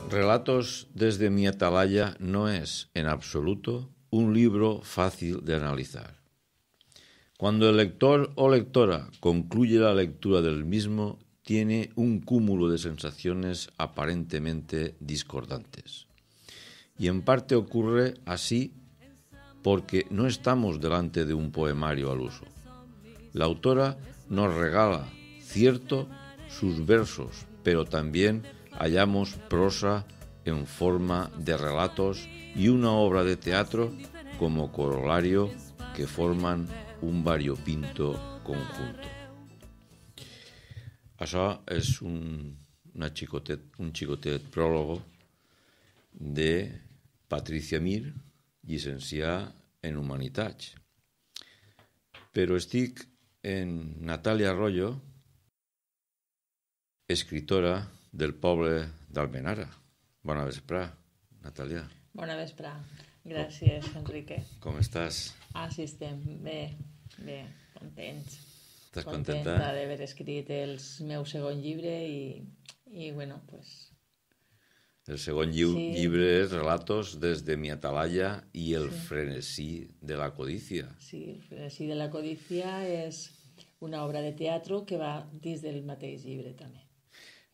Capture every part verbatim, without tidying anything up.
Relatos desde mi atalaya no es, en absoluto, un libro fácil de analizar. Cuando el lector o lectora concluye la lectura del mismo, tiene un cúmulo de sensaciones aparentemente discordantes. Y en parte ocurre así porque no estamos delante de un poemario al uso. La autora nos regala, cierto, sus versos, pero también hallamos prosa en forma de relatos y una obra de teatro como corolario que forman un variopinto conjunto. Això és un, una xicotet, un xicotet pròlogo de Patricia Mir, llicenciada en Humanitats. Però estic en Natàlia Arroyo, escritora del poble d'Almenara. Bona vesprà, Natàlia. Bona vesprà. Gràcies, Enrique. Com estàs? Ah, sí, estem bé, bé, contents. Estàs contenta? Contenta d'haver escrit el meu segon llibre i, i bueno, pues... El segon lliu, Sí. llibre és Relatos desde mi atalaya i el Sí. frenesí de la codicia. Sí, el frenesí de la codícia és una obra de teatre que va dins del mateix llibre, també.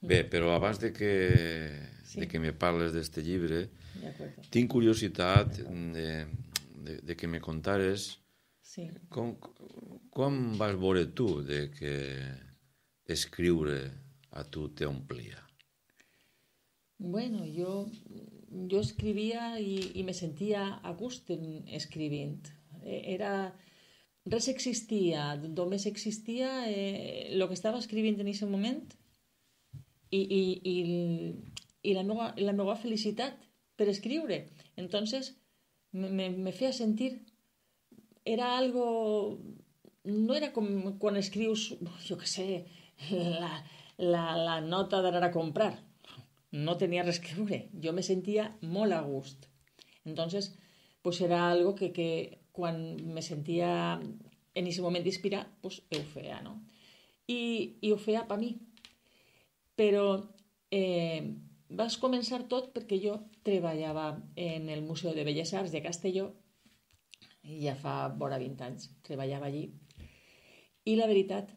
Bé, però abans de que, Sí. de que me parles d'este llibre, D'acord. tinc curiositat de, de, de que me contares Sí. com, com vas veure tu de que escriure a tu t'omplia. Bueno, jo, jo escrivia i, i me sentia a gust en escrivint. Era... Res existia, només existia eh, el que estava escrivint en aquest moment i, i, i, i la, meva, la meva felicitat per escriure. Entonces, me, me, me feia sentir... Era algo... No era com quan escrius, jo què sé, la, la, la nota d'anar a comprar. No tenia res que veure. Jo me sentia molt a gust. Entonces, pues era algo que, que quan me sentia en aquest moment d'inspirar, pues ho feia, no? I, i ho feia per mi. Però eh, vas començar tot perquè jo treballava en el Museu de Belles Arts de Castelló i ja fa vora vint anys treballava allí. I la veritat,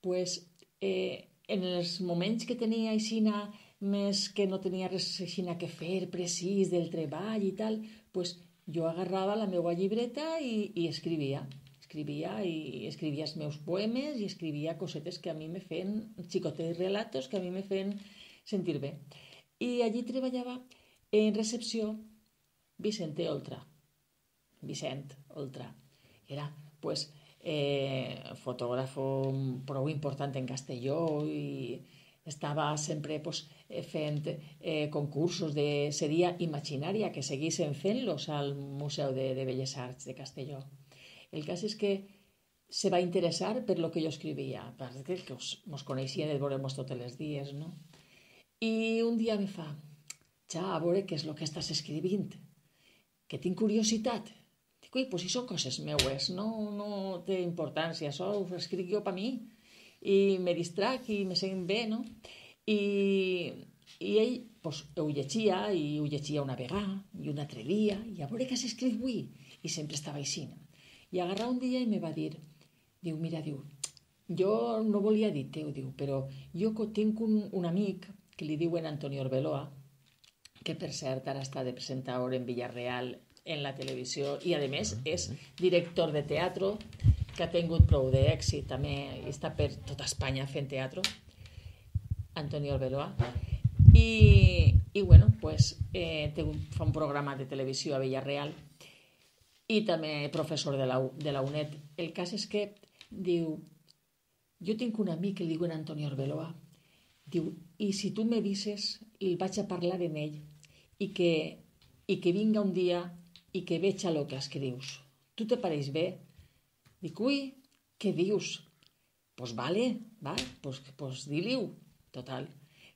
pues, eh, en els moments que tenia aixina més que no tenia res aixina que fer precís del treball i tal, pues jo agarrava la meva llibreta i, i escrivia. Escrivia i escrivia els meus poemes i escrivia cosetes que a mi me feien, xicotets relatos que a mi me feien sentir bé. I allí treballava en recepció Vicente Oltra. Vicent Oltra. Era, pues, eh, fotògrafo prou important en Castelló i estava sempre pues, fent eh, concursos de... Seria Imaginària, que seguissin fent-los al Museu de, de Belles Arts de Castelló. El cas és que se va interessar per lo que jo escrivia, perquè que mos coneixien de veure-mos tots els dies, no? I un dia me fa, ja, a veure què és el que estàs escrivint, que tinc curiositat. Dic, ui, pues si són coses meues, no, no té importància, això ho escric jo per mi. I me distrac i me sent bé, no? I, i ell pues, ho llegia, i ho llegia una vegada, i una altre dia, i a veure què has escrit avui. I sempre estava així. I agarrar un dia i me va dir, diu, mira, diu, jo no volia dir teu, diu, però jo tinc un, un amic que li diuen Antonio Arbeloa, que per cert ara està de presentador en Villarreal en la televisió i a més és director de teatre, que ha tingut prou d'èxit, també està per tota Espanya fent teatre, Antonio Arbeloa. I, i bueno, pues, eh, té un, fa un programa de televisió a Villarreal i també professor de la, de la UNED. El cas és que diu, jo tinc un amic que li diuen Antonio Arbeloa, diu, i si tu me vises, el vaig a parlar en ell i que, i que vinga un dia i que veja el que escrius. Tu te pareix bé? Dic, ui, què dius? Pues vale, va, pues, pues di-li-ho. Total,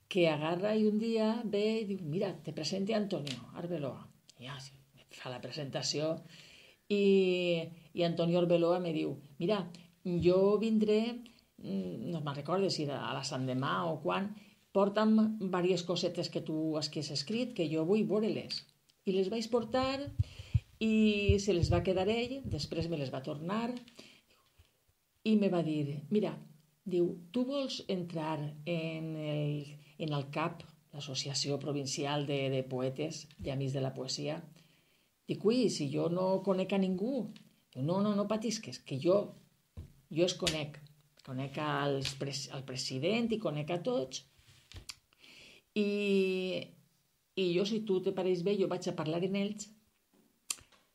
que agarra i un dia ve i diu, mira, te presente Antonio Arbeloa. I ja, fa la presentació i, i Antonio Arbeloa me diu, mira, jo vindré, no me'n recordo si era a la Sant Demà o quan, porta'm diverses cosetes que tu has que has escrit, que jo vull veure-les. I les vaig portar i se les va quedar ell, després me les va tornar i me va dir, mira, diu, tu vols entrar en el, en el C A P, l'Associació Provincial de, de Poetes i Amics de la Poesia? Dic, ui, si jo no conec a ningú. Diu, no, no, no patisques, que jo, jo es conec. Conec als pres, al president i conec a tots. I, i jo, si tu te pareix bé, jo vaig a parlar en ells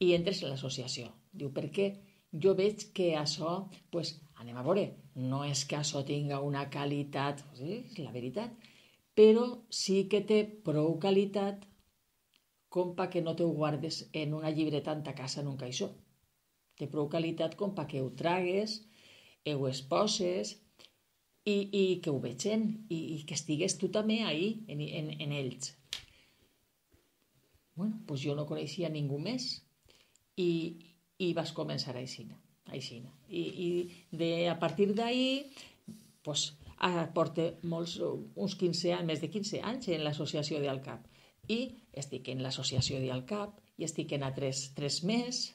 i entres en l'associació. Diu, perquè jo veig que això, pues, anem a veure, no és que això tinga una qualitat, sí, és la veritat, però sí que té prou qualitat com perquè no te ho guardes en una llibreta en ta casa en un caixó. Té prou qualitat com perquè ho tragues, ho exposes i, i que ho vegin i, i que estigues tu també ahí, en, en, en ells. Bueno, doncs jo no coneixia ningú més i, i vas començar aixina, aixina. I, i de, a partir d'ahir, doncs, porto molts, uns quinze anys, més de quinze anys en l'associació d'Alcap. I estic en l'associació d'Alcap i estic en altres tres més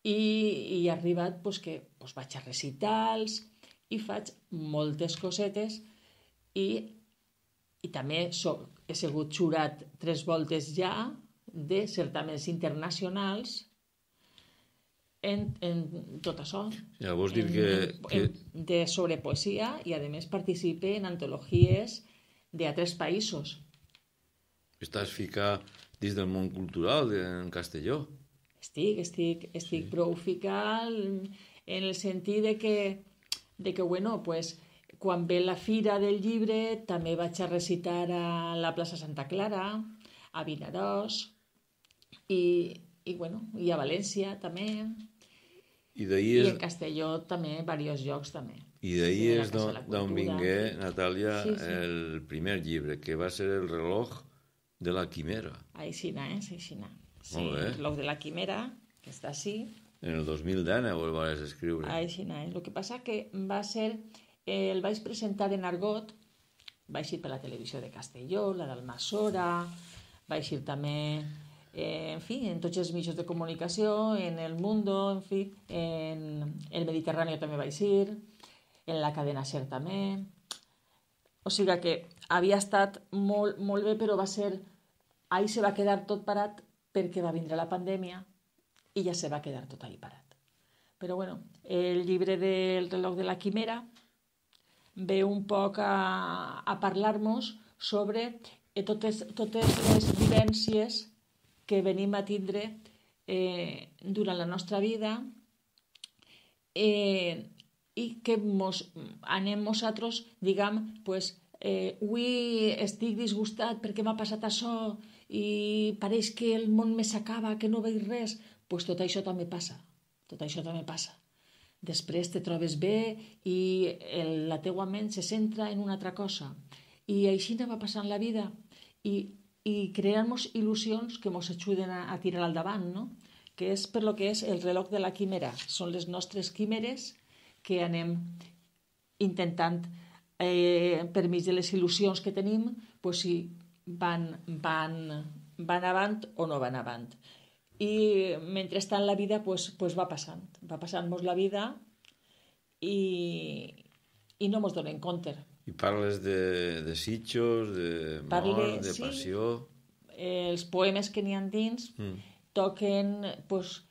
i, i he arribat doncs, que doncs, vaig a recitals i faig moltes cosetes i, i també soc, he sigut jurat tres voltes ja de certaments internacionals en, en tot això. Ja, vols dir en, que, en, que... En, de sobre poesia i a més participe en antologies d'altres països. Estàs ficat dins del món cultural en Castelló. Estic, estic, estic sí. Prou ficat en el sentit de que, de que bueno, pues, quan ve la fira del llibre també vaig a recitar a la plaça Santa Clara, a Vinaròs i, i, bueno, i a València també. I, I és... en Castelló també, diversos llocs també. I d'ahir és d'on vingué, Natàlia, sí, sí. El primer llibre, que va ser El reloj de la quimera. Aixina, eh? Aixina. Sí, Molt bé. El reloj de la quimera, que està així. En el dos mil deu el vas escriure. Aixina, eh? El que passa que va ser... Eh, el vaig presentar en argot, vaig ir per la televisió de Castelló, la d'Almassora, vaig ir també, eh, en fi, en tots els mitjans de comunicació, en El Mundo, en fi, en el Mediterrani també vaig ir, en la cadena SER també. O sigui que havia estat molt, molt bé, però va ser... Ahí se va quedar tot parat perquè va vindre la pandèmia i ja se va quedar tot ahí parat. Però bueno, el llibre del reloj de la quimera ve un poc a, a parlar-nos sobre eh, totes, totes les vivències que venim a tindre eh, durant la nostra vida eh, i que mos, anem nosaltres, diguem, pues, eh, avui estic disgustat perquè m'ha passat això i pareix que el món me s'acaba, que no veig res, pues tot això també passa, tot això també passa. Després te trobes bé i el, la teua ment se centra en una altra cosa. I així va passant la vida. I, i creant-nos il·lusions que ens ajuden a, a tirar al davant, no? Que és per lo que és el reloj de la quimera. Són les nostres quimeres que anem intentant, eh, per mig de les il·lusions que tenim, pues, si van, van, van avant o no van avant. I mentrestant la vida pues, pues va passant, va passant-nos la vida i, i no ens donem compte. I parles de, de sitjos, de Parle, mort, de sí, passió... Els poemes que n'hi ha dins mm. toquen pues,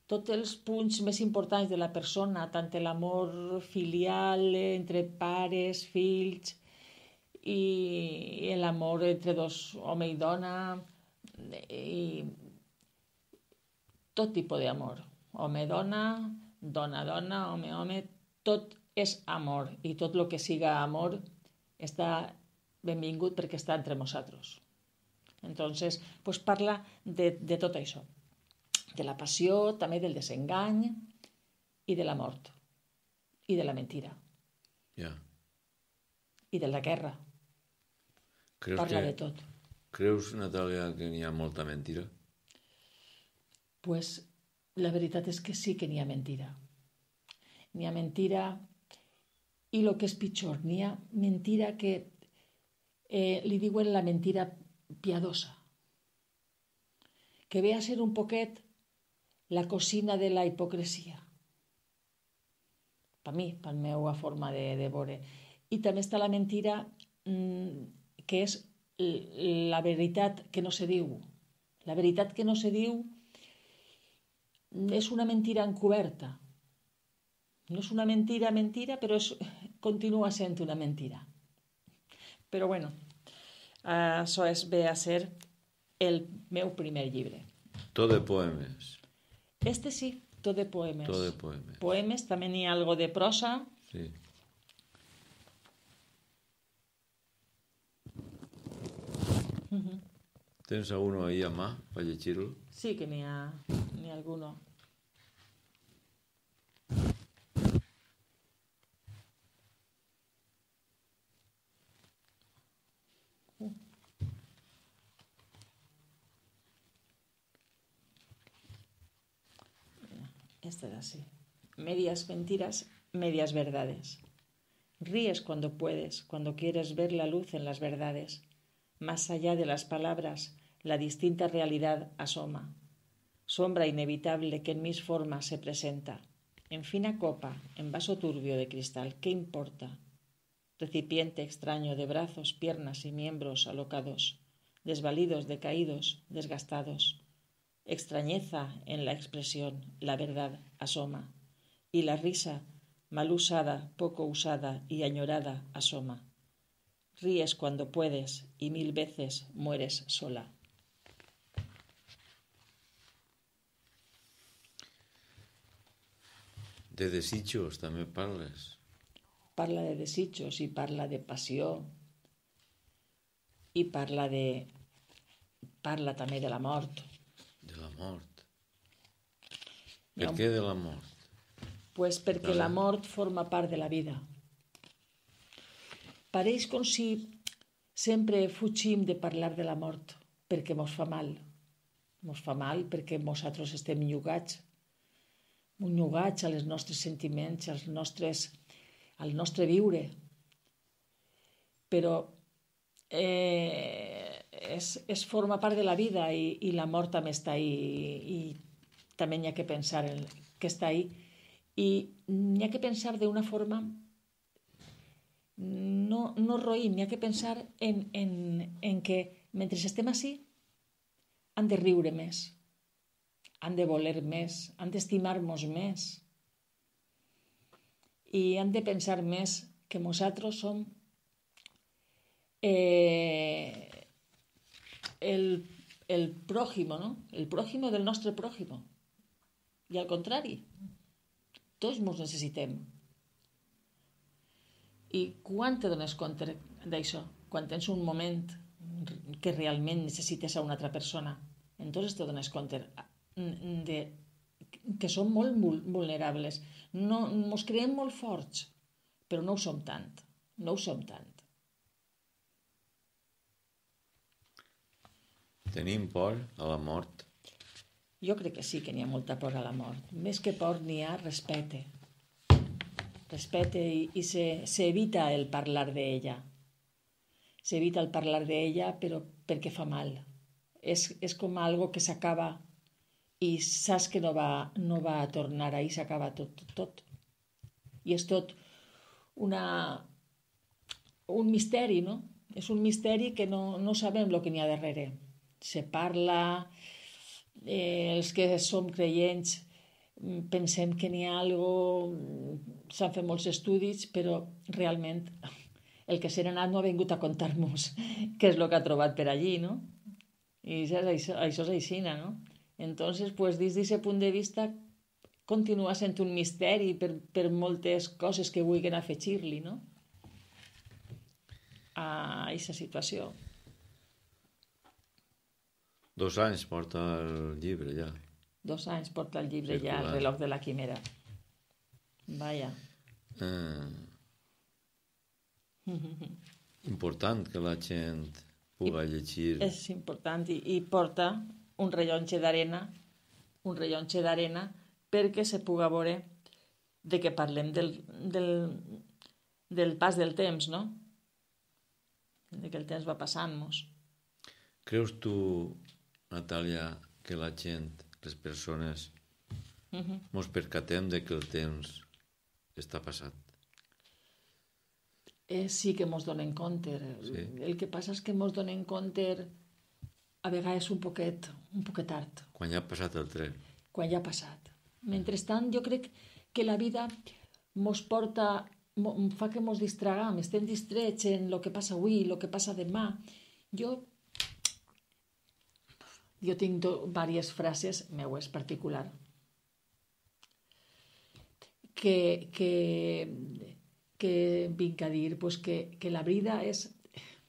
tots els punts més importants de la persona, tant l'amor filial entre pares, fills, i l'amor entre dos, home i dona, i tot tipus d'amor, home-dona, dona-dona, home-home, tot és amor i tot el que siga amor està benvingut perquè està entre nosaltres. Entonces, pues parla de, de tot això, de la passió, també del desengany i de la mort i de la mentira. Yeah. I de la guerra. Creus parla que, de tot. Creus, Natàlia, que n'hi ha molta mentira? Pues la veritat és que sí que n'hi ha mentira. N'hi ha mentira i el que és pitjor, n'hi ha mentira que eh, li diuen la mentira piadosa, que ve a ser un poquet la cocina de la hipocresia. Per mi, per la meva forma de, de veure. I també està la mentira mmm, que és la veritat que no se diu. La veritat que no se diu és una mentira encoberta. No és una mentira, mentira, però és, continua sent una mentira. Però bueno, això és ve a ser el meu primer llibre. Tot de poemes. Este sí, tot de poemes. Tot de poemes. Poemes, també n'hi ha algo de prosa. Sí. Uh-huh. Tens alguno ahí a mà per llegir-lo? Sí que n'hi ha, n'hi ha alguno. Uh. Este es así. Medias mentiras, medias verdades. Ríes cuando puedes, cuando quieres ver la luz en las verdades. Más allá de las palabras, la distinta realidad asoma. Sombra inevitable que en mis formas se presenta. En fina copa, en vaso turbio de cristal, ¿qué importa? Recipiente extraño de brazos, piernas y miembros alocados, desvalidos, decaídos, desgastados. Extrañeza en la expresión, la verdad asoma. Y la risa, mal usada, poco usada y añorada, asoma. Ríes cuando puedes y mil veces mueres sola. De desitjos també parles. Parla de desitjos i parla de passió i parla de... parla també de la mort. De la mort. Per no. Què de la mort? Pues perquè vale. La mort forma part de la vida. Pareix com si sempre fugim de parlar de la mort perquè mos fa mal. Mos fa mal perquè nosaltres estem llogats, llogats als nostres sentiments, als nostres, al nostre viure. Però eh, és, és forma part de la vida i, i la mort també està ahí i, i també n'hi ha que pensar en, que està ahí. I n'hi ha que pensar d'una forma no, no roïm, n'hi ha que pensar en, en, en que mentre estem així han de riure més, han de voler més, han d'estimar-nos més i han de pensar més que nosaltres som eh, el, el pròjimo, no? El pròjimo del nostre pròjimo. I al contrari, tots ens necessitem. I quan te dones compte d'això? Quan tens un moment que realment necessites a una altra persona. Entonces te dones compte de, que som molt vulnerables. No, ens creiem molt forts, però no ho som tant. No ho som tant. Tenim por a la mort? Jo crec que sí que n'hi ha molta por a la mort. Més que por n'hi ha respecte. Respecte i, i se, se evita el parlar d'ella. Se evita el parlar d'ella però perquè fa mal. És, és com algo que s'acaba i saps que no va, no va a tornar ahí, s'acaba tot, tot, tot. I és tot una, un misteri, no? És un misteri que no, no sabem el que n'hi ha darrere. Se parla... Eh, els que som creients pensem que n'hi ha algo, s'han fet molts estudis, però realment el que s'ha anat no ha vingut a contar-nos què és el que ha trobat per allí, no? I això, això, això és aixina, no? Entonces, pues, des d'aquest punt de vista continua sent un misteri per, per moltes coses que vulguin afegir-li, no? A aquesta situació. Dos anys porta el llibre, ja. Dos anys porta el llibre, ja, el reloj de la quimera. Vaja. Eh, important que la gent pugui llegir. És important i, i porta un rellotge d'arena, un rellotge d'arena perquè se pugui veure de què parlem del, del, del pas del temps, no? de que el temps va passant-nos. Creus tu, Natàlia, que la gent, les persones, Uh-huh. mos percatem de que el temps està passat? Eh, sí que mos donen compte. Sí. El que passa és que mos donen compte a vegades un poquet, un poquet tard, Quan ja ha passat el tren. quan ja ha passat. Mentrestant, jo crec que la vida mos porta, mo, fa que mos distragam, estem distrets en el que passa avui, el que passa demà. Jo, jo tinc do, diverses frases meues particular que, que, que vinc a dir pues, que, que la vida és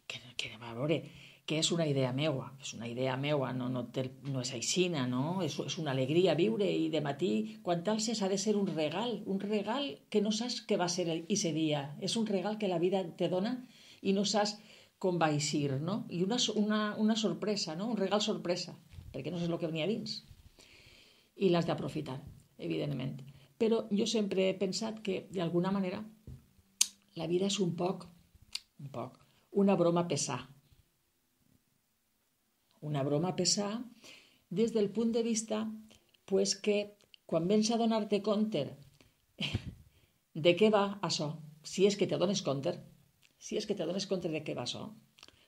que, que a veure, que és una idea meua, és una idea meua, no, no, té, no és aixina, no? És, és una alegria viure i de matí, quan t'alces ha de ser un regal, un regal que no saps què va ser aquest dia, és un regal que la vida te dona i no saps com va eixir, no? I una, una, una sorpresa, no? Un regal sorpresa, perquè no saps el que venia dins. I l'has d'aprofitar, evidentment. Però jo sempre he pensat que, d'alguna manera, la vida és un poc, un poc, una broma pesà. Una broma pesà des del punt de vista pues, que quan vens a donar-te compte de què va això, si és que te dones compte, si és que te dones compte de què va això,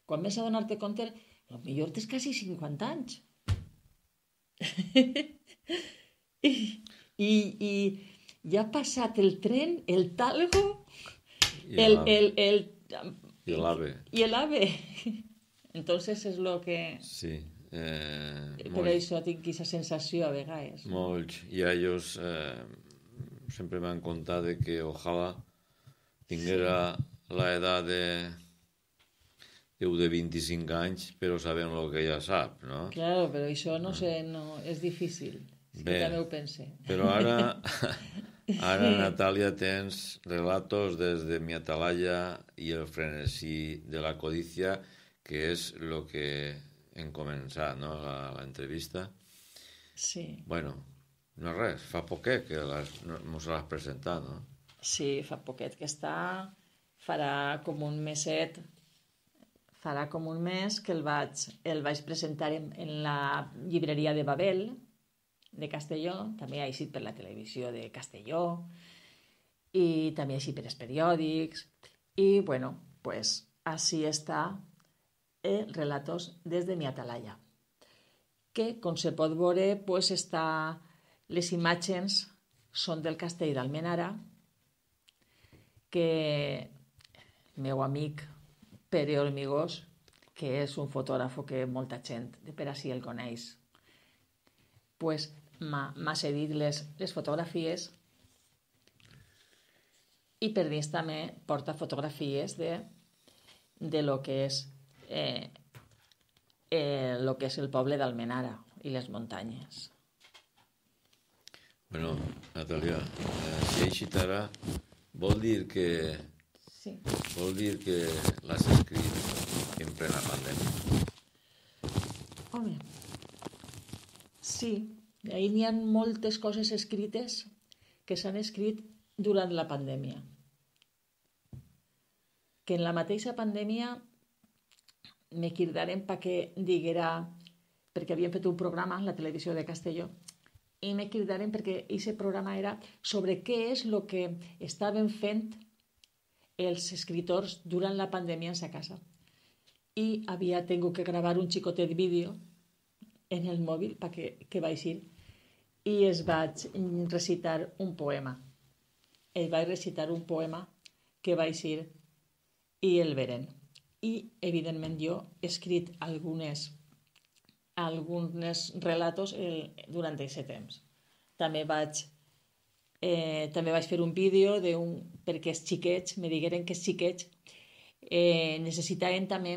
quan vens a donar-te compte, potser tens quasi cinquanta anys. I, i, i ja ha passat el tren, el talgo, I el, l'ave. el, el, I l'ave. i el ave. Entonces és lo que... Sí. Eh, Per molts, això tinc aquesta sensació a vegades. molts iaios eh, sempre m'han contat de que ojalà tinguera la edat de Déu de vint-i-cinc anys, però sabem el que ja sap, no? Claro, però això no sé, no, és difícil. Sí que Bé. també ho pense. Però ara, ara, Natàlia, tens relatos des de mi atalaya i el frenesí de la codicia, que és el que hem començat, no?, la, la entrevista. Sí, Bueno, no és res, fa poquet que les, no, mos l'has presentat, no? sí, fa poquet que està, farà com un meset, farà com un mes que el vaig, el vaig presentar en, en la llibreria de Babel, de Castelló, també ha eixit per la televisió de Castelló, i també ha eixit per els periòdics, i bueno, pues així està eh, Relatos des de mi atalaya, que, com se pot veure, pues està, les imatges són del castell d'Almenara, que el meu amic Pere Hormigós, que és un fotògraf que molta gent de per ací el coneix, pues m'ha cedit les, les fotografies i per dins també porta fotografies de, de lo que és eh, eh, lo que és el poble d'Almenara i les muntanyes. Bueno, Natàlia, eh, si eixit ara, vol dir que Sí. vol dir que l'has escrit en plena pandèmia. Home, sí, ahir n'hi ha moltes coses escrites que s'han escrit durant la pandèmia. Que en la mateixa pandèmia me cridaren perquè diguera, perquè havien fet un programa en la televisió de Castelló, i me cridaren perquè aquest programa era sobre què és el que estaven fent els escriptors durant la pandèmia en sa casa. I havia tingut que gravar un xicotet vídeo en el mòbil perquè que va eixir i es vaig recitar un poema. Es vaig recitar un poema que va eixir i el veren. I, evidentment, jo he escrit algunes, algunes relatos el, durant aquest temps. També vaig Eh, també vaig fer un vídeo de un, perquè els xiquets, me digueren que els xiquets eh, necessitaven també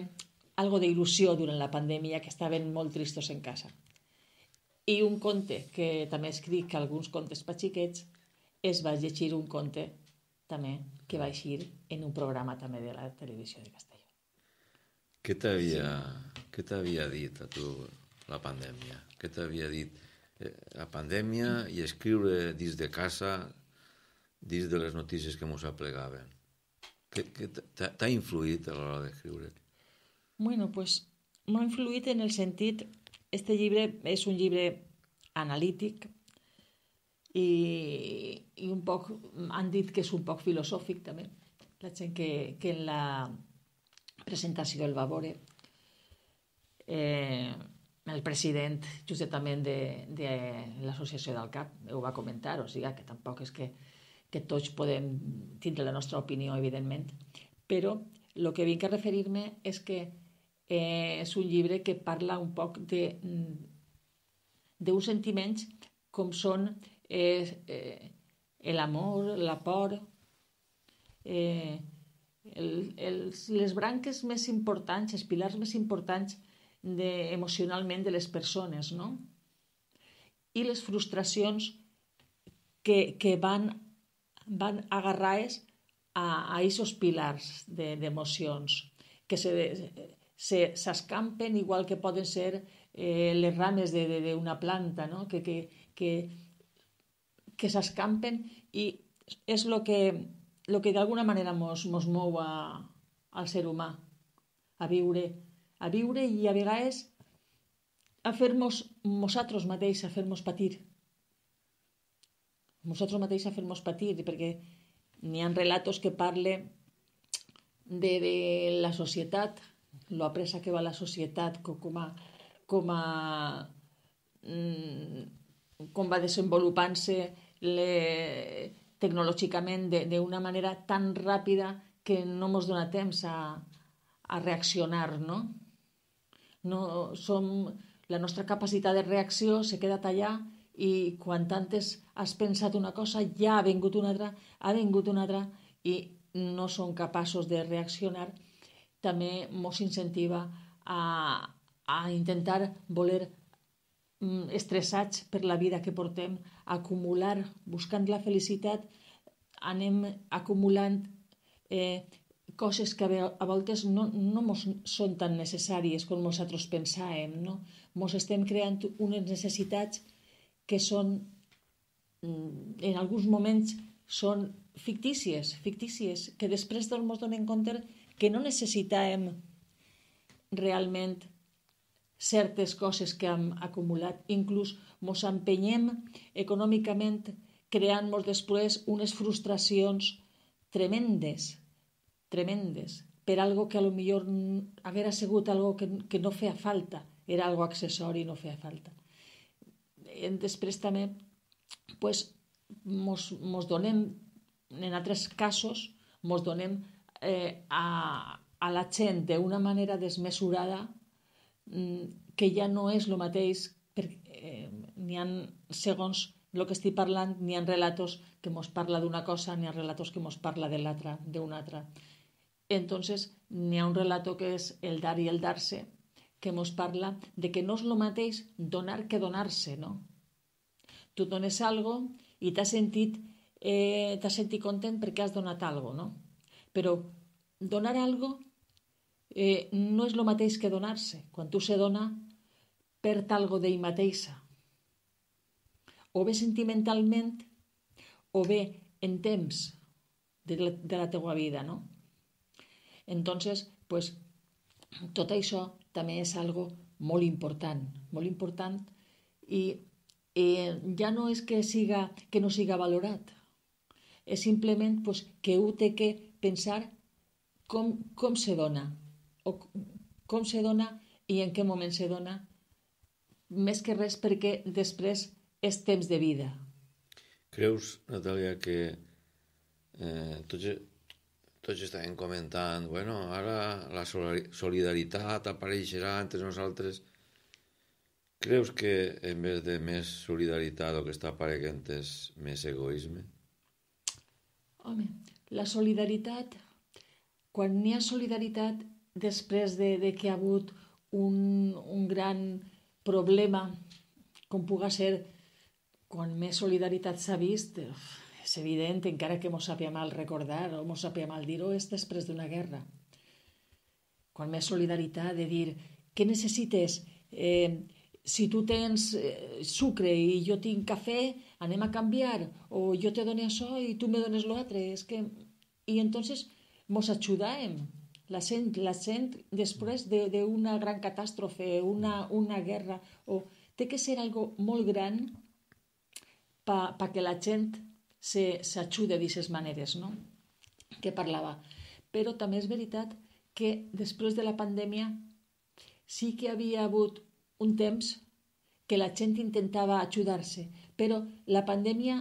algo d'il·lusió durant la pandèmia, que estaven molt tristos en casa. I un conte, que també escric alguns contes per xiquets, es va llegir un conte també que va eixir en un programa també de la televisió de Castelló. Què t'havia sí. què t'havia dit a tu la pandèmia? Què t'havia dit la pandèmia i escriure dins de casa, dins de les notícies que mos aplegaven? Què t'ha influït a l'hora d'escriure? Bueno, pues m'ha influït en el sentit... Este llibre és un llibre analític i, i un poc... Han dit que és un poc filosòfic, també. La gent que, que en la presentació el va veure. Eh, el president, justament, de, de l'associació del C A P ho va comentar, o sigui que tampoc és que, que tots podem tindre la nostra opinió, evidentment, però el que vinc a referir-me és que eh, és un llibre que parla un poc de d'uns sentiments com són eh, eh, l'amor, la por, eh, el, els, les branques més importants, els pilars més importants de, emocionalment de les persones, no? I les frustracions que, que van, van agarrades a aquests pilars d'emocions, de, que se, se, s'escampen igual que poden ser eh, les rames d'una planta, no? que, que, que, que s'escampen i és el que, lo que d'alguna manera mos, mos mou a, al ser humà, a viure, a viure i a vegades a fer-nos nosaltres mateix, a fer-nos patir. Nosaltres mateix a fer-nos patir, perquè n'hi ha relatos que parlen de, de la societat, lo apressa que va la societat, com a, com a com va desenvolupant-se le, tecnològicament d'una manera tan ràpida que no ens dona temps a, a reaccionar, no? No som, la nostra capacitat de reacció se queda allà i quan antes has pensat una cosa ja ha vingut una altra, ha vingut una altra i no som capaços de reaccionar. També ens incentiva a, a intentar voler estressats per la vida que portem, acumular, buscant la felicitat, anem acumulant eh, coses que a voltes no, no mos són tan necessàries com nosaltres pensàvem, no? Mos estem creant unes necessitats que són, en alguns moments, són fictícies, fictícies, que després ens donem compte que no necessitàvem realment certes coses que hem acumulat. Inclús ens empenyem econòmicament creant-nos després unes frustracions tremendes, tremendes, per algo que a lo millor haguera sigut algo que, que no feia falta, era algo accessori i no feia falta. Després també pues, mos, mos donem, en altres casos, mos donem eh, a, a la gent d'una manera desmesurada que ja no és el mateix, perquè eh, n'hi ha, segons el que estic parlant, n'hi ha relatos que mos parla d'una cosa, n'hi ha relatos que mos parla de l'altra, d'una altra. Entonces, n'hi ha un relato que és el dar i el dar-se, que mos parla de que no és el mateix donar que donar-se, no? Tu dones algo i t'has sentit, eh, t'has sentit content perquè has donat algo, no? Però donar algo eh, no és el mateix que donar-se. Quan tu se dona, perd algo d'ell mateixa. O bé sentimentalment, o bé en temps de la, de la teua vida, no? Entonces, pues, tot això també és algo molt important, molt important i eh, ja no és que, siga, que no siga valorat, és simplement pues, que ho té que pensar com, com se dona, o com se dona i en què moment se dona, més que res perquè després és temps de vida. Creus, Natàlia, que eh, tots, tots estaven comentant, bueno, ara la solidaritat apareixerà entre nosaltres. Creus que en vez de més solidaritat el que està apareixent és més egoisme? Home, la solidaritat, quan n'hi ha solidaritat després de, de que ha hagut un, un gran problema, com puga ser quan més solidaritat s'ha vist, és evident, encara que mos sàpia mal recordar o mos sàpia mal dir-ho, és després d'una guerra. Quan més solidaritat de dir, què necessites? Eh, si tu tens eh, sucre i jo tinc cafè, anem a canviar, o jo te dono això i tu me dones l'altre. És que... I entonces mos ajudàvem, La gent, la gent després d'una de, gran catàstrofe, una, una guerra, o té que ser algo molt gran per pa que la gent s'ajude d'aquestes maneres, no? Que parlava. Però també és veritat que després de la pandèmia sí que havia hagut un temps que la gent intentava ajudar-se, però la pandèmia,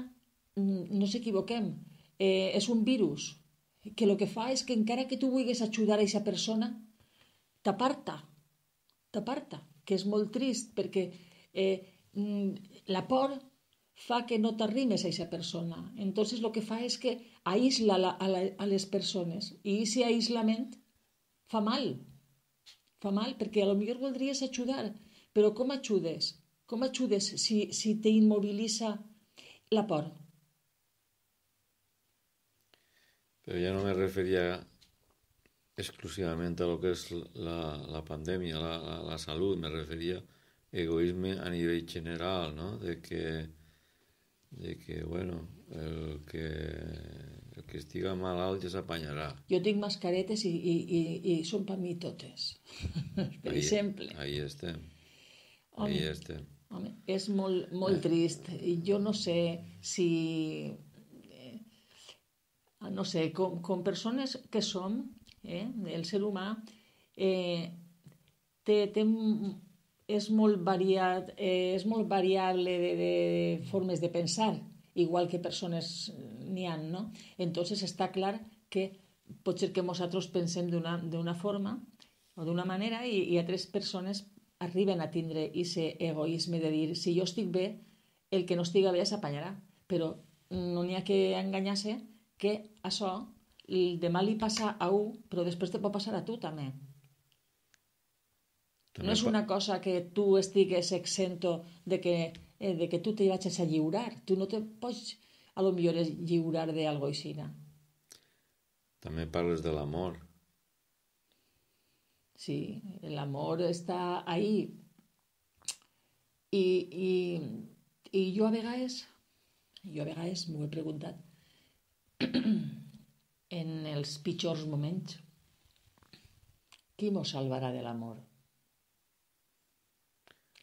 no ens equivoquem, eh, és un virus que el que fa és que encara que tu vulguis ajudar a aquesta persona, t'aparta, t'aparta, que és molt trist perquè eh, la por fa que no t'arrimes a aquesta persona. Entonces el que fa és que aïsla la, a, la, a les persones i aquest aïslament fa mal, fa mal perquè a lo millor voldries ajudar, però com ajudes? Com ajudes si, si t'immobilitza la por? Pero ya no me refería exclusivamente a lo que es la, la pandemia, la, la, la salud, me refería egoísmo a nivel general, ¿no? De que, de que bueno, el que, el que estiga malalt ja s'apanyarà. Jo tinc mascaretes i, i, i, i són per mi totes, per ahí, exemple. Ahí estem, home, ahí estem. Home, és molt, molt trist. Jo no sé si... no sé, com, com persones que som, eh, el ser humà, eh, té, té, és molt variat, eh, és molt variable de, de formes de pensar, igual que persones n'hi ha, no? Entonces està clar que pot ser que nosaltres pensem d'una forma o d'una manera i, i altres persones arriben a tindre aquest egoisme de dir si jo estic bé, el que no estiga bé s'apanyarà, però no n'hi ha que enganyar-se que això demà li passa a un, però després te pot passar a tu també. també no és una cosa que tu estigues exento de que, eh, de que tu te vagis a lliurar. Tu no te pots, a lo millor, lliurar d'algo així. També parles de l'amor. Sí, l'amor està ahí. I, i, i jo a vegades, jo a vegades m'ho he preguntat, en els pitjors moments, qui mos salvarà de l'amor?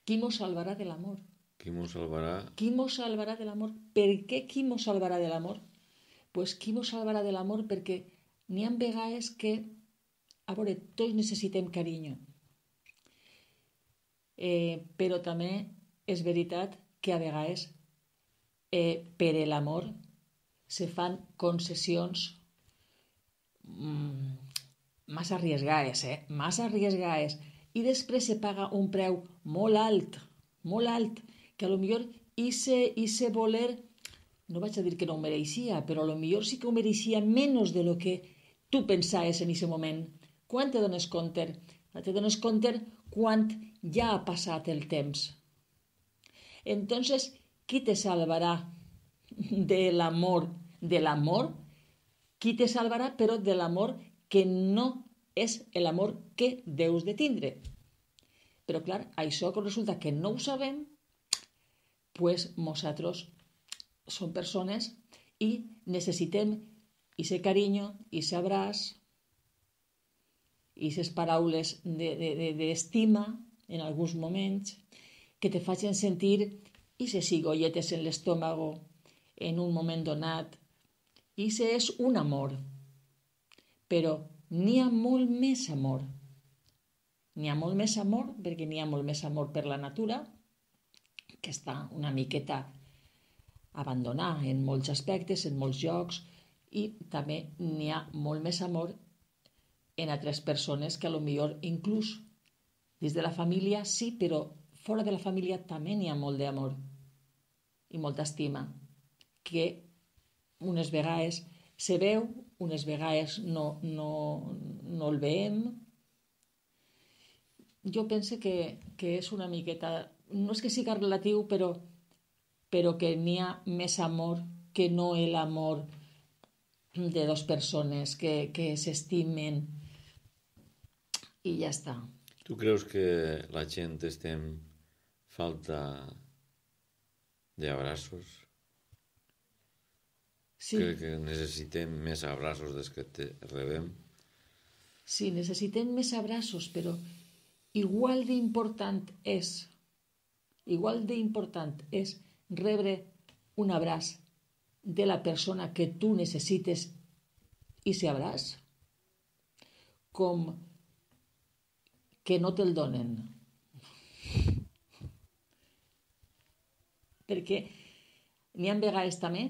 Qui mos salvarà de l'amor? Qui mos salvarà? Qui mos salvarà de l'amor? Per què qui mos salvarà de l'amor? Pues qui mos salvarà de l'amor perquè n'hi ha vegades que, a veure, tots necessitem carinyo. Eh, però també és veritat que a vegades eh, per l'amor se fan concessions mmm, massa arriesgades, eh? massa arriesgades, i després se paga un preu molt alt, molt alt, que a lo millor ese voler, no vaig a dir que no ho mereixia, però a lo millor sí que ho mereixia menys de lo que tu pensaves en aquest moment. Quan te dones compte? Te dones compte quan ja ha passat el temps. Entonces, qui te salvarà de l'amor? De l'amor? Qui te salvarà, però de l'amor que no és l'amor que deus de tindre. Però clar, això que resulta que no ho sabem, pues nosaltres som persones i necessitem ese carinyo, ese abraç, aquestes paraules d'estima de, de, en alguns moments que te facin sentir aquestes cigolletes en l'estómago en un moment donat. I això és un amor. Però n'hi ha molt més amor. N'hi ha molt més amor perquè n'hi ha molt més amor per la natura, que està una miqueta abandonada en molts aspectes, en molts llocs, i també n'hi ha molt més amor en altres persones que a lo millor inclús dins de la família sí, però fora de la família també n'hi ha molt d'amor i molta estima, que unes vegades se veu, unes vegades no, no, no el veiem. Jo penso que, que és una miqueta, no és que siga relatiu, però, però que n'hi ha més amor que no l'amor de dues persones que, que s'estimen i ja està. Tu creus que la gent estem falta d'abraços? Sí. Crec que necessitem més abraços des que te rebem. Sí, necessitem més abraços, però igual d'important és, igual d'important és rebre un abraç de la persona que tu necessites i se abraç, com que no te'l donen. Perquè n'hi ha vegades també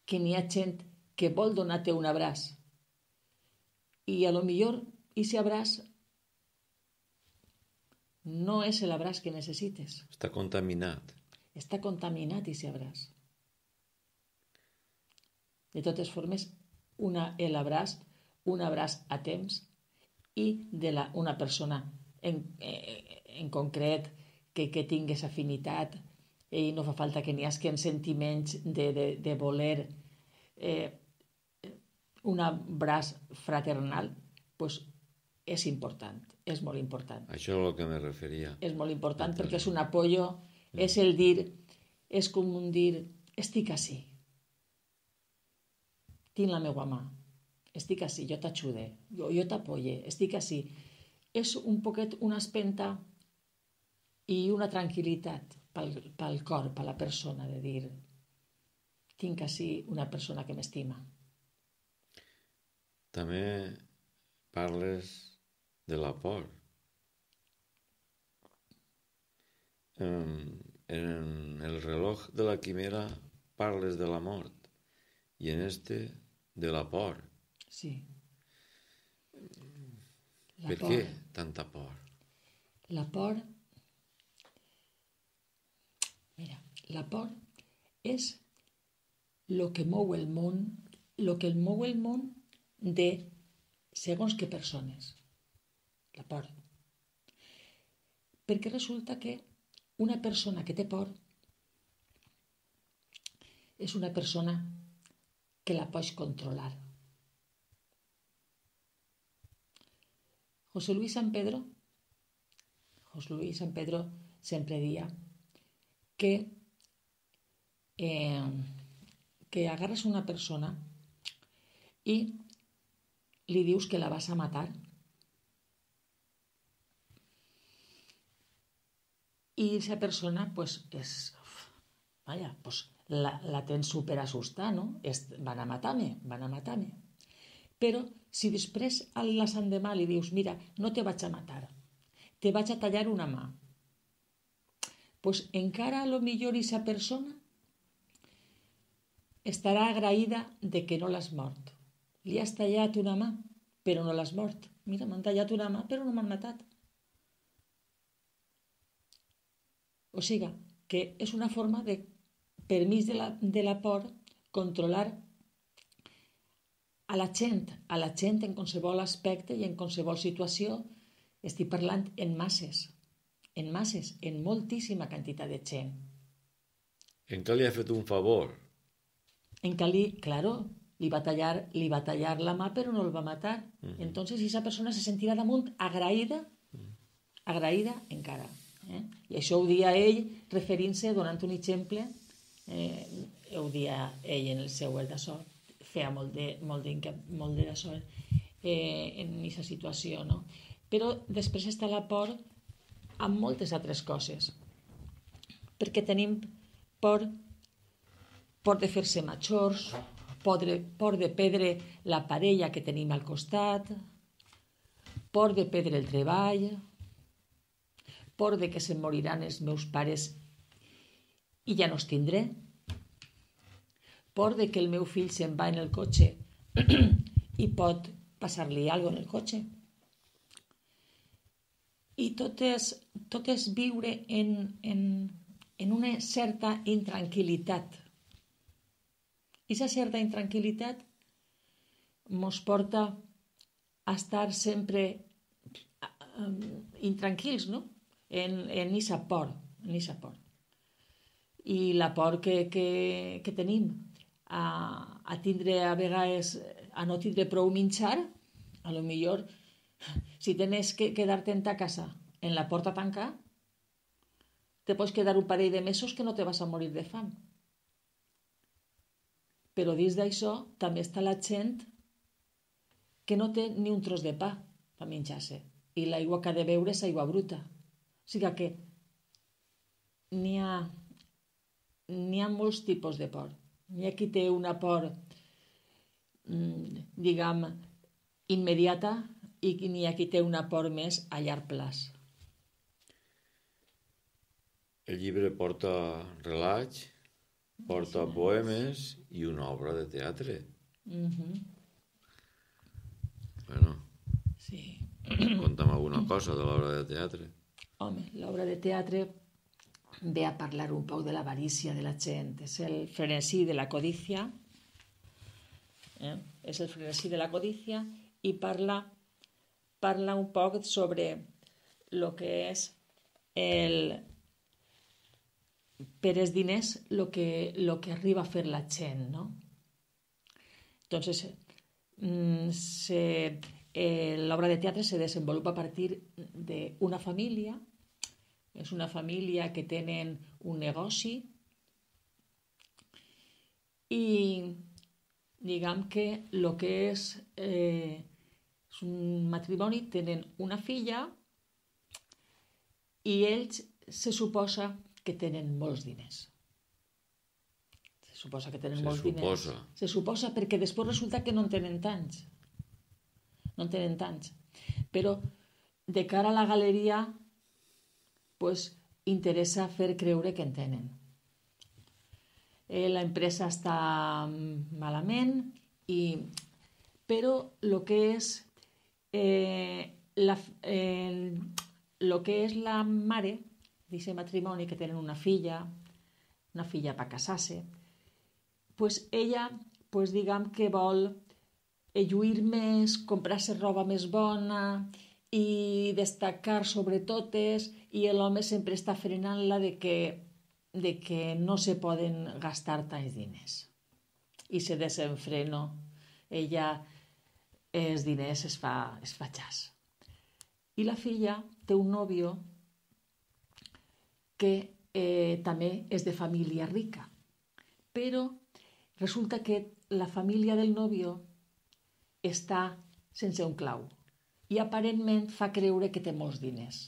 que n'hi ha gent que vol donar-te un abraç i a lo millor ese abraç no és l'abraç que necessites. Està contaminat. Està contaminat ese abraç. De totes formes, una, l'abraç, un abraç a temps i de la, una persona en, en concret que, que tingués afinitat i no fa falta que n'hi hagi sentiments de, de, de voler eh, un abraç fraternal, pues és important, és molt important. Això és el que me referia. És molt important perquè és un apoyo, mm. és el dir, és com un dir, estic ací, tinc la meva mà, estic ací, jo t'ajude, jo, jo t'apoye, estic ací. És un poquet una espenta i una tranquil·litat pel, pel cor, per la persona, de dir, tinc ací una persona que m'estima. També parles de la por. En, en el reloj de la quimera parles de la mort i en este de la por. Sí. La per por. Què tanta por? La por... Mira, la por és lo que mou el món, lo que el mou el món de segons què persones. La por. Perquè resulta que una persona que té por és una persona que la pots controlar. José Luis San Pedro, José Luis San Pedro sempre dia que, eh, que agarres una persona i li dius que la vas a matar i esa persona pues, és, vaya, pues, la, la tens super assustada, no? És, van a matar-me, van a matar-me. Però si després a l'endemà li dius, mira, no te vaig a matar, te vaig a tallar una mà, pues encara a lo millor esa persona estarà agraïda de que no l'has mort. Li has tallat una mà, però no l'has mort. Mira, m'han tallat una mà, però no m'han matat. O sigui, que és una forma de, per mig de la, de la por, controlar a la gent, a la gent en qualsevol aspecte i en qualsevol situació. Estic parlant en masses, en masses, en moltíssima quantitat de gent. En què li ha fet un favor? En què li, claro, li va tallar, li va tallar la mà però no el va matar. Mm-hmm. Entonces esa persona se sentirà damunt agraïda, agraïda encara. Eh? I això ho dia ell referint-se, donant un exemple, eh, ho dia ell en el seu d'això, feia molt de, molt de, molt de d'això eh, en aquesta situació, no? Però després està la por amb moltes altres coses, perquè tenim por, por de fer-se majors, por de, por de perdre la parella que tenim al costat, por de perdre el treball, por de que se'n moriran els meus pares i ja no els tindré, por de que el meu fill se'n va en el cotxe i pot passar-li alguna cosa en el cotxe. I tot és, tot és viure en, en, en una certa intranquil·litat. I aquesta certa intranquil·litat ens porta a estar sempre intranquils, no? En aquesta por, en aquesta por. I la por que, que, que tenim a, a tindre a vegades, a no tindre prou menjar, a lo millor, si tens que quedar-te en ta casa en la porta tancada, te pots quedar un parell de mesos que no te vas a morir de fam. Però dins d'això també està la gent que no té ni un tros de pa per menjar-se. I l'aigua que ha de beure és aigua bruta. O sigui que n'hi ha, n'hi ha molts tipus de por. N'hi ha qui té una por, diguem, immediata i n'hi ha qui té una por més a llarg plaç. El llibre porta relats, porta poemes i una obra de teatre. Uh-huh. Bueno, sí. Conta'm alguna cosa de l'obra de teatre. Home, l'obra de teatre ve a parlar un poc de l'avarícia de la gent. És el frenesí de la codícia. Eh? És el frenesí de la codícia i parla, parla un poc sobre el que és el... per els diners el que, lo que arriba a fer la gent, no? Entonces, se, eh, l'obra de teatre se desenvolupa a partir d'una família. És una família que tenen un negoci i diguem que el que és, eh, és un matrimoni, tenen una filla i ells se suposa que tenen molts diners. Se suposa que tenen Se molts suposa. diners. Se suposa perquè després resulta que no en tenen tants. No en tenen tants. Però de cara a la galeria pues, interessa fer creure que en tenen. Eh, la empresa està malament, i, però el que és eh, la, eh, lo que és la mare d'aquest matrimoni, que tenen una filla, una filla per casar-se, pues ella, pues diguem que vol lluir més, comprar-se roba més bona i destacar sobre totes, i l'home sempre està frenant-la de que, de que no se poden gastar tants diners. I se desenfreno. Ella, els diners es fa, es fa xas. I la filla té un nòvio que eh, també és de família rica. Però resulta que la família del nòvio està sense un clau i aparentment fa creure que té molts diners.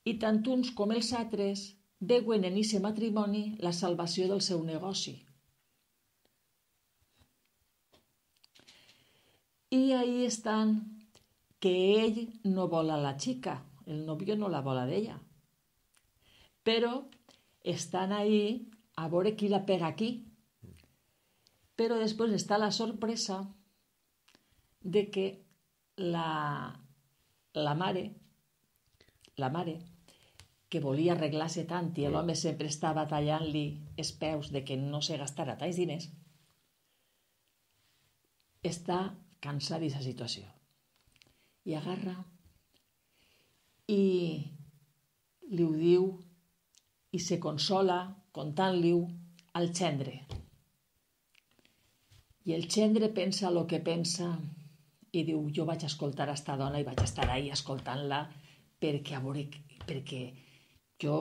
I tant uns com els altres veuen en aquest matrimoni la salvació del seu negoci. I ahí estan que ell no vol a la xica, el nòvio no la vol a d'ella. Però estan ahí a veure qui la pega aquí. Però després està la sorpresa de que la, la mare, la mare, que volia arreglar-se tant i l'home sempre estava tallant-li els peus de que no se gastara tants diners, està cansada d'aquesta situació. I agarra i li ho diu i se consola contant-li-ho al gendre. I el gendre pensa el que pensa i diu, jo vaig escoltar a esta dona i vaig estar ahí escoltant-la perquè, a veure, perquè jo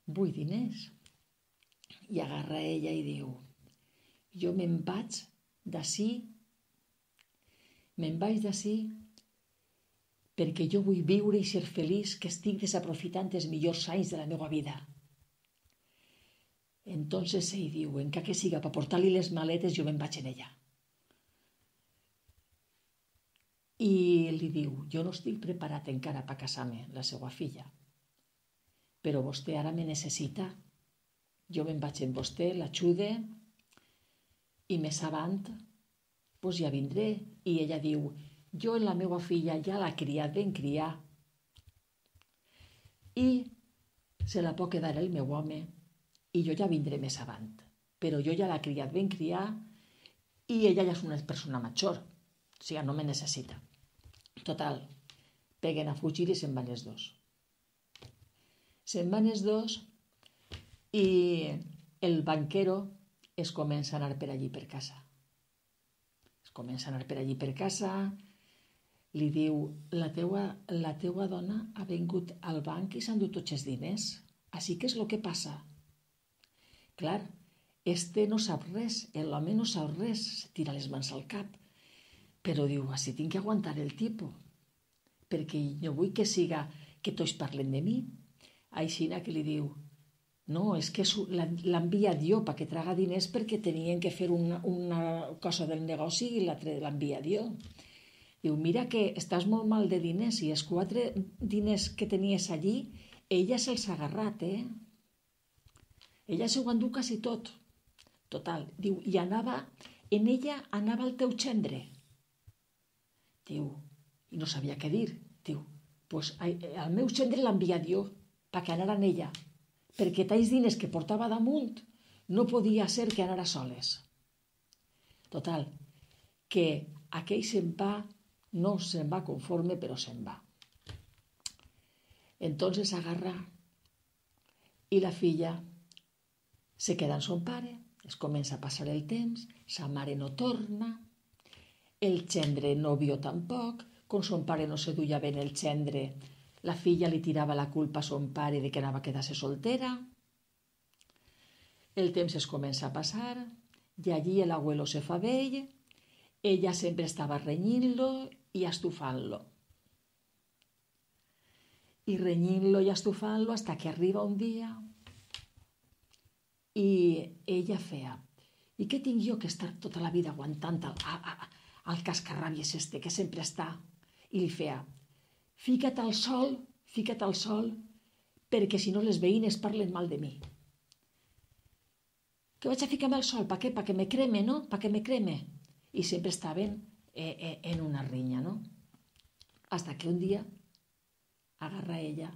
vull diners. I agarra ella i diu, jo me'n vaig d'ací, me'n vaig d'ací perquè jo vull viure i ser feliç, que estic desaprofitant els millors anys de la meva vida. Entonces ell diu, encara que siga per portar-li les maletes, jo me'n vaig en ella. I li diu, jo no estic preparat encara per casar-me, la seva filla, però vostè ara me necessita. Jo me'n vaig amb vostè, l'ajude, i més avant, doncs ja vindré. I ella diu, jo la meva filla ja l'ha criat ben criar i se la pot quedar el meu home i jo ja vindré més avant, però jo ja l'ha criat ben criar i ella ja és una persona major, o sigui, no me necessita. Total, peguen a fugir i se'n van els dos. Se'n van els dos i el banquero es comença a anar per allí per casa. Es comença a anar per allí per casa, li diu, la teua, la teua dona ha vingut al banc i s'han dut tots els diners. Així que és el que passa. Clar, este no sap res, l'home no sap res, se tira les mans al cap. Però diu, així tinc que aguantar el tipus, perquè no vull que siga que tots parlen de mi. Aixina que li diu, no, és que l'ha enviat jo perquè traga diners perquè tenien que fer una, una cosa del negoci i l'altre l'ha enviat jo. Diu, mira que estàs molt mal de diners i els quatre diners que tenies allí, ella se'ls ha agarrat, eh? Ella s'ho endú quasi tot. Total, diu, i anava, en ella anava el teu gendre. Diu, i no sabia què dir. Diu, pues el meu gendre l'ha enviat jo, perquè anara en ella, perquè talls diners que portava damunt no podia ser que anara soles. Total, que aquell se'n va, no se'n va conforme, però se'n va. Entonces agarra i la filla se queda amb son pare, es comença a passar el temps, sa mare no torna, el gendre no vio tampoc, com son pare no se duia ben el gendre, la filla li tirava la culpa a son pare de que anava a quedar-se soltera. El temps es comença a passar, i allí l'abuelo se fa vell, ella sempre estava renyint-lo i estufant-lo. I renyint-lo i estufant-lo hasta que arriba un dia i ella feia, i què tinc jo que estar tota la vida aguantant el, el, el cascarràbies este que sempre està? I li feia, fica't al sol, fica't al sol, perquè si no les veïnes parlen mal de mi. Que vaig a ficar-me al sol, pa què? Pa que me creme, no? Pa que me creme. I sempre estaven eh, eh, en una rinya, no? Hasta que un dia agarra ella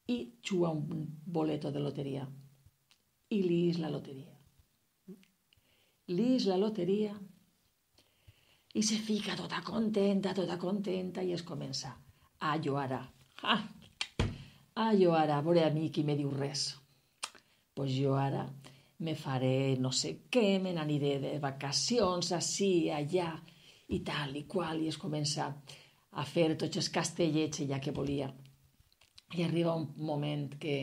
i juga un boleto de loteria. I li és la loteria. Li és la loteria i se fica tota contenta, tota contenta i es comença a llorar. Ah, a llorar, a veure a mi qui me diu res. Pues jo ara me faré no sé què, me n'aniré de vacacions, així, allà, i tal i qual, i es comença a fer tots els castellets ella que volia. I arriba un moment que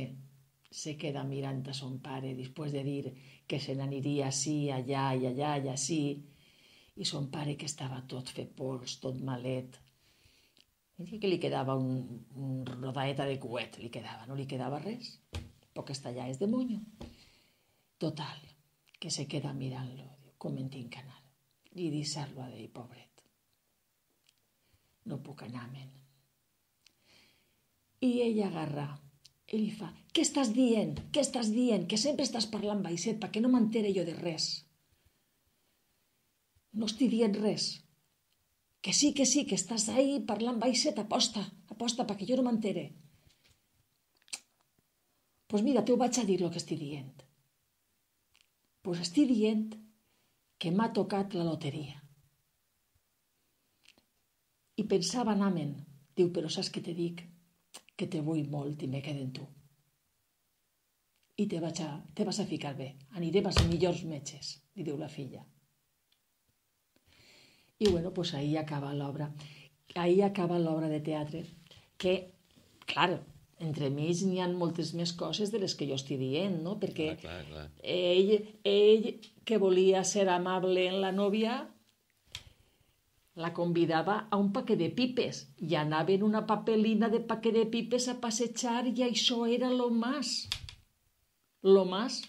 se queda mirant a son pare després de dir que se n'aniria així, allà i allà i així, i son pare que estava tot fet pols, tot malet, i que li quedava un, un rodaeta de cuet, li quedava, no li quedava res, poques tallades de monyo. Total, que se queda mirant-lo, com en tinc que anar, i deixar-lo a dir, pobret, no puc anar-me'n. I ella agarra i li fa, què estàs dient? Què estàs dient? Que sempre estàs parlant baixet perquè no m'entere jo de res. No estic dient res. Que sí, que sí, que estàs ahí parlant baixet, aposta, aposta perquè jo no m'entere. Pues mira, te ho vaig a dir el que estic dient. Pues estic dient que m'ha tocat la loteria. I pensava anar-me'n. Diu, però saps què te dic? Que te vull molt i me quedo en tu. I te, vaig a, te vas a ficar bé. Anirem als millors metges, li diu la filla. I bueno, pues ahí acaba l'obra. Ahí acaba l'obra de teatre, que, clar, entre mig n'hi ha moltes més coses de les que jo estic dient, no? Perquè clar, clar, clar. Ell, ell, que volia ser amable en la nòvia, la convidava a un paquet de pipes i anava en una papelina de paquet de pipes a passejar i això era lo más. Lo más.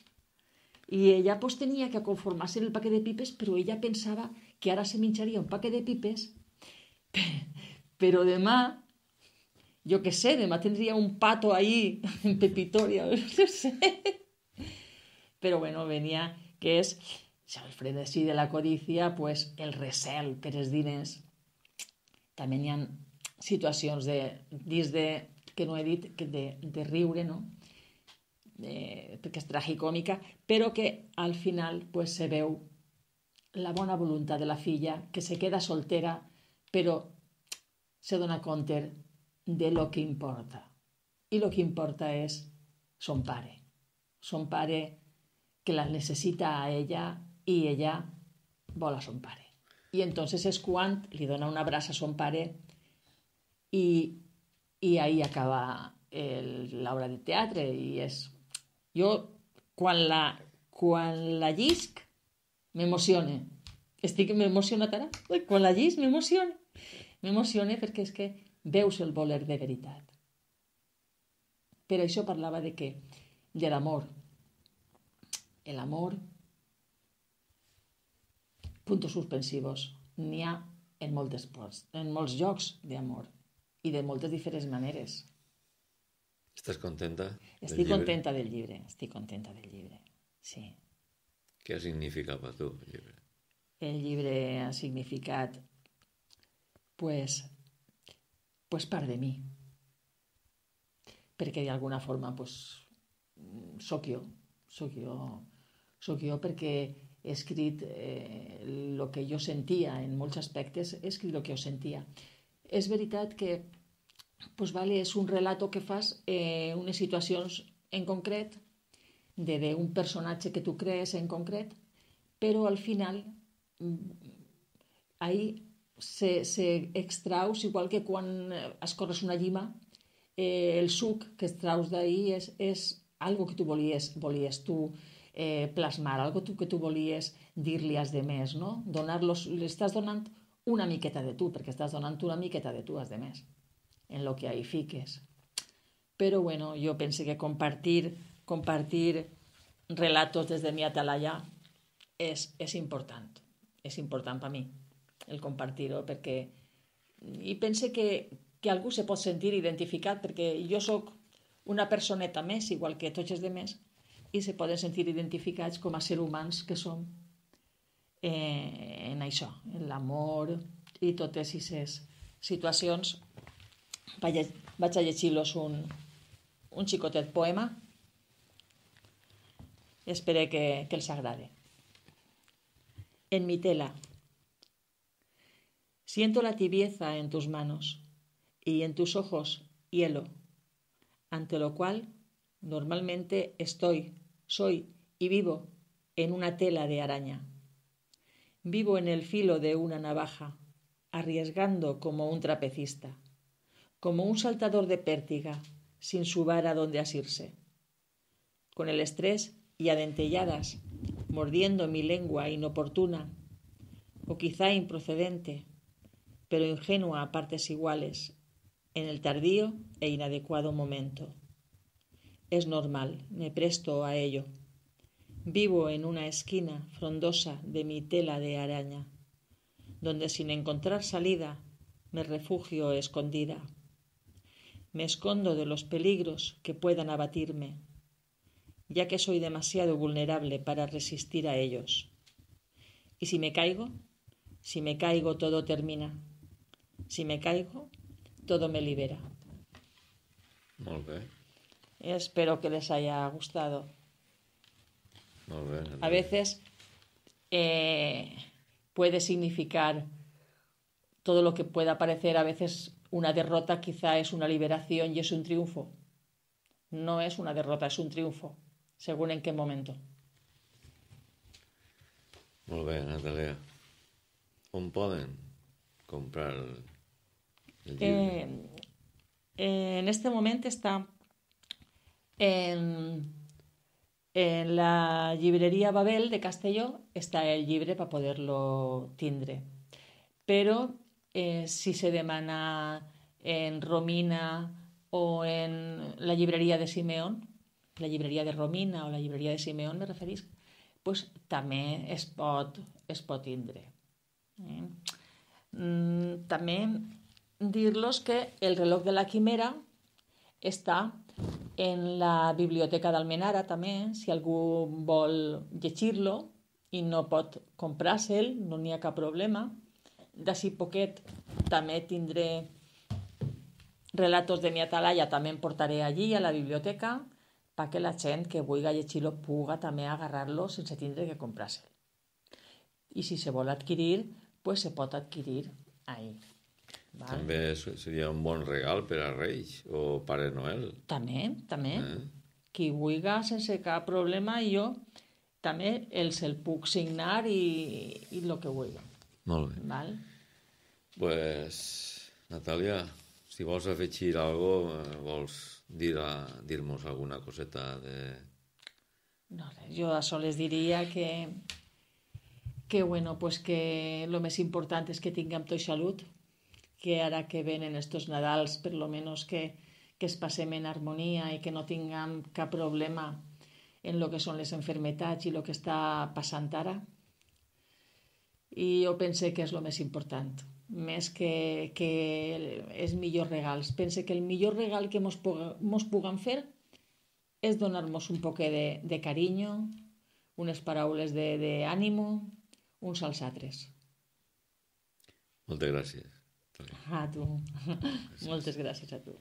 I ella pues tenia que conformar-se en el paquet de pipes, però ella pensava que ara se menjaria un paquet de pipes, però demà, jo què sé, demà tindria un pato ahí en pepitoria, no sé. Però bueno, venia que és... el frenesí de la codícia, pues, el recel per els diners. També hi ha situacions de, dins de, que no he dit, que de, de riure, no? Eh, perquè és tragicòmica, però que al final pues, se veu la bona voluntat de la filla, que se queda soltera, però se dona compte de lo que importa. I lo que importa és son pare. Son pare que la necessita a ella i ella vol a son pare. I entonces és quan li dona un abraç a son pare i, i ahí acaba l'obra de teatre. I és... Jo, quan la, quan la llisc m'emociona. Estic m'emocionat ara? Quan la llisc m'emociona. M'emociona perquè és que veus el voler de veritat. Per això parlava de què? De l'amor. L'amor, puntos suspensivos, n'hi ha en moltes parts, en molts llocs d'amor i de moltes diferents maneres. Estàs contenta? Estic contenta del llibre, estic contenta del llibre, sí. Què ha significat per tu el llibre? El llibre ha significat, pues, pues part de mi. Perquè d'alguna forma, pues, soc jo, soc jo, soc jo perquè he escrit el eh, que jo sentia en molts aspectes, he escrit el que jo sentia. És veritat que pues, vale, és un relato que fas en eh, unes situacions en concret, d'un personatge que tu crees en concret, però al final ahí se, se extraus, igual que quan escorres una llima, eh, el suc que extraus d'ahí és, és algo que tu volies, volies tu eh, plasmar, algo que tu volies dir-li als demés, no? Donar-los, li estàs donant una miqueta de tu, perquè estàs donant una miqueta de tu als demés, en lo que ahí fiques. Però bueno, jo penso que compartir, compartir relatos des de mi atalaya és, és important, és important per mi, el compartir-ho, perquè i pense que, que algú se pot sentir identificat, perquè jo sóc una personeta més, igual que tots els demés, i se poden sentir identificats com a ser humans que som eh, en això, en l'amor i totes aquestes situacions. Vaig a, vaig a llegir-los un, un xicotet poema. Espero que, que els agrade. En mi tela. Siento la tibieza en tus manos y en tus ojos hielo, ante lo cual normalmente estoy, soy y vivo en una tela de araña. Vivo en el filo de una navaja, arriesgando como un trapecista, como un saltador de pértiga, sin su vara donde asirse. Con el estrés y a dentelladas, mordiendo mi lengua inoportuna, o quizá improcedente, pero ingenua a partes iguales, en el tardío e inadecuado momento. Es normal, me presto a ello. Vivo en una esquina frondosa de mi tela de araña, donde sin encontrar salida me refugio escondida. Me escondo de los peligros que puedan abatirme, ya que soy demasiado vulnerable para resistir a ellos. Y si me caigo, si me caigo todo termina. Si me caigo, todo me libera. Molt bé. Espero que les haya gustado. Molt bé. A veces eh, puede significar todo lo que pueda parecer, a veces una derrota quizá es una liberación y es un triunfo. No es una derrota, es un triunfo, según en qué momento. Molt bé, Natàlia. On poden comprar el, el llibre? Eh, en este momento está en, en la llibrería Babel de Castelló, está el llibre para poderlo tindre. Pero eh, si se demana en Romina o en la llibreria de Simeón, la llibreria de Romina o la llibreria de Simeón, me referís, pues també es pot, es pot tindre. Eh? Mm, també dir-los que el reloj de la quimera està en la biblioteca d'Almenara també, si algú vol llegir-lo i no pot comprar-se'l, no n'hi ha cap problema. D'ací poquet també tindré relatos de mi atalaya, també em portaré allí a la biblioteca perquè la gent que vulgui llegir-lo puga també agarrar-lo sense tindre que comprar-se'l. I si se vol adquirir, pues se pot adquirir ahí. Val? També seria un bon regal per a Reis o Pare Noel. També, també. Eh? Qui vulgui sense cap problema, jo també els el puc signar i, i el que vulgui. Molt bé. Val? Pues, Natàlia, si vols afegir alguna cosa, vols dir-nos alguna coseta de... No, res, jo a soles diria que, que, bueno, pues que lo més important és que tinguem tot salut, que ara que venen estos Nadals, per lo menos que, que es passem en harmonia i que no tinguem cap problema en lo que són les enfermetats i el que està passant ara. I jo pense que és el més important, més que, que els millors regals. Pense que el millor regal que mos, mos puguem fer és donar-nos un poc de, de carinyo, unes paraules d'ànimo, uns als altres. Moltes gràcies. A tu. Moltes gràcies a tu.